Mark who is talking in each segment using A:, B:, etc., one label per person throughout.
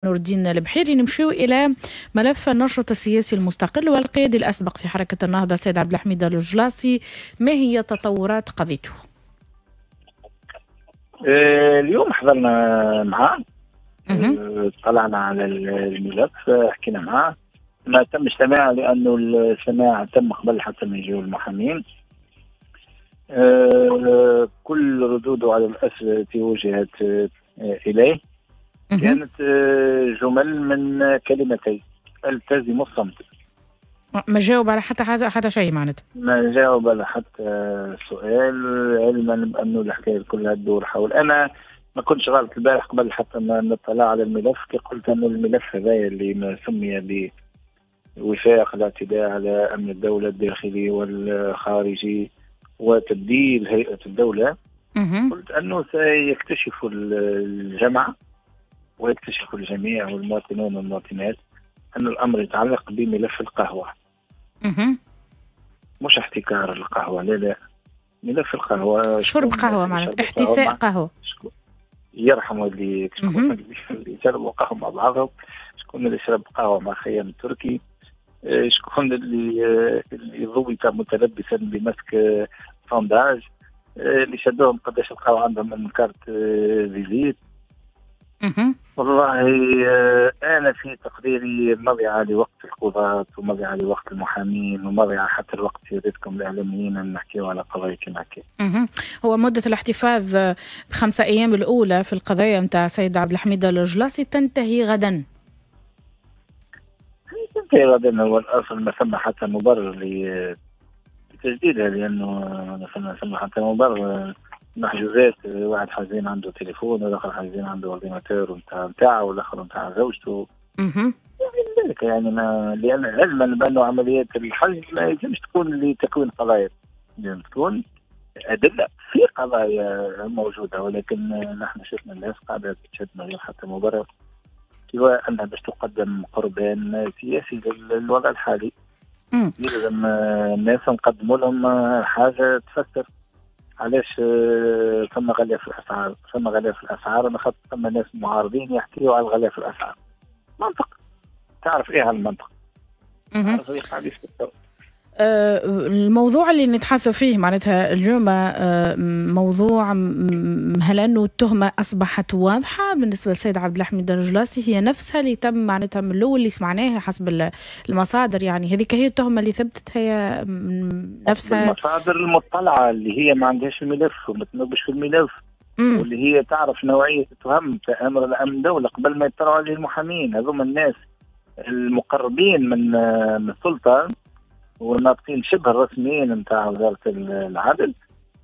A: نور الدين البحيري. نمشيو إلى ملف النشط السياسي المستقل والقيادي الأسبق في حركة النهضة سيد عبد الحميد الجلاصي. ما هي تطورات قضيته؟
B: اليوم حضرنا معاه، طلعنا على الملف، حكينا معاه. ما تمش سماع لأنه السماع تم قبل حتى ما يجيو المحامين. كل ردوده على الأسئلة التي وجهت إليه كانت جمل من كلمتين: التزم الصمت.
A: ما جاوب على حتى شيء معناتها؟
B: ما جاوب على حتى سؤال، علما بأنه الحكاية كلها تدور حول. أنا ما كنتش غلط البارح قبل حتى ما نطلع على الملف كي قلت أنه الملف هذا اللي ما سمي بوثائق الاعتداء على أمن الدولة الداخلي والخارجي وتبديل هيئة الدولة، قلت أنه سيكتشف الجمع ويكتشف الجميع والمواطنون والمواطنات أن الأمر يتعلق بملف القهوة. مش احتكار القهوة، لا لا، ملف القهوة،
A: شرب قهوة معناتها، احتساء قهوة.
B: يرحم اللي اللي شربوا قهوة مع بعضهم، شكون اللي شرب قهوة مع خيام التركي، شكون اللي ضبط متلبسا بمسك sondage، اللي شدوهم قداش لقاو عندهم من carte visite. والله أنا في تقديري مضيعة لوقت القضاة ومضيعة لوقت المحامين ومضيعة حتى الوقت سيادتكم الإعلاميين أن نحكيو على قضايا كما هكا.
A: هو مدة الاحتفاظ ب5 أيام الأولى في القضايا نتاع سيد عبد الحميد الجلاصي تنتهي غدا.
B: تنتهي غدا. هو الأصل ما ثم حتى مبرر لتجديدها، لأنه ما ثم حتى مبرر. محجوزات، واحد حزين عنده تليفون والاخر حزين عنده ordinateur نتاعو والاخر نتاع زوجته. ذلك يعني ما، لان علما بانه عمليات الحجز ما يلزمش تكون لتكوين قضايا، لازم تكون ادلة في قضايا موجودة، ولكن نحن شفنا الناس قاعدة تشد من غير حتى مبرر، سواء انها باش تقدم قربان سياسي للوضع الحالي. يلزم الناس نقدموا لهم حاجة تفسر علاش ثم غلاء في الاسعار، ثم غلاء في الاسعار، انا خاطر ثم ناس معارضين يحكيوا على الغلاء في الاسعار. منطق، تعرف ايه هالمنطق؟ تعرف ايه قاعد يفكر.
A: الموضوع اللي نتحدث فيه معناتها اليوم موضوع هل أنه التهمة أصبحت واضحة بالنسبة للسيد عبد الحميد الجلاصي؟ هي نفسها اللي تم معناتها من الأول اللي سمعناها حسب المصادر، يعني هذيك هي التهمة اللي ثبتت هي نفسها.
B: المصادر المطلعة اللي هي ما عندهاش الملف وما تنوبش في الملف، واللي هي تعرف نوعية التهم تأمر الأمن الدولة قبل ما يطلعوا عليه المحامين. هذوما الناس المقربين من السلطة والناطقين شبه الرسميين نتاع وزارة العدل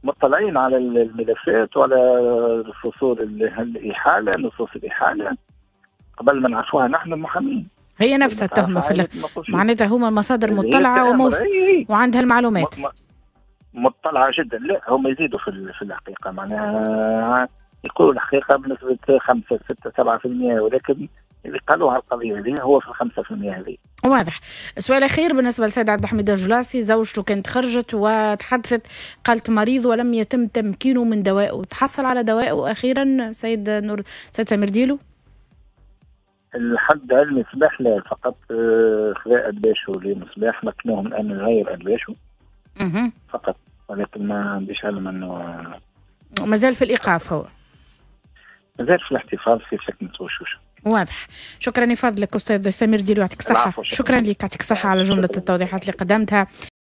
B: مطلعين على الملفات وعلى فصول الإحالة، نصوص الإحالة قبل ما نعرفوها نحن المحامين.
A: هي نفسها التهمة في معناتها هما المصادر مطلعة وعندها المعلومات.
B: مطلعة جدا. لا هم يزيدوا في الحقيقة، معناها يقولوا الحقيقة بنسبة 5 6 7%، ولكن اللي قالوها القضية هذه هو في 5% هذه.
A: واضح. سؤال أخير بالنسبة للسيد عبد الحميد الجلاصي، زوجته كانت خرجت وتحدثت قالت مريض ولم يتم تمكينه من دوائه، تحصل على دوائه أخيرا سيد سيد سمير ديلو؟
B: الحد علمي صباح لا، فقط خذا أدباشه لمصباح مكنوه من أن يغير أدباشه فقط، ولكن ما عنديش علم أنه
A: مازال في الإيقاف. هو
B: مازال في الاحتفاظ في سكنة وشوشة.
A: واضح. شكرا لفضلك أستاذ سمير ديلو، يعطيك الصحة. شكرا لك، يعطيك الصحة على جملة التوضيحات اللي قدمتها.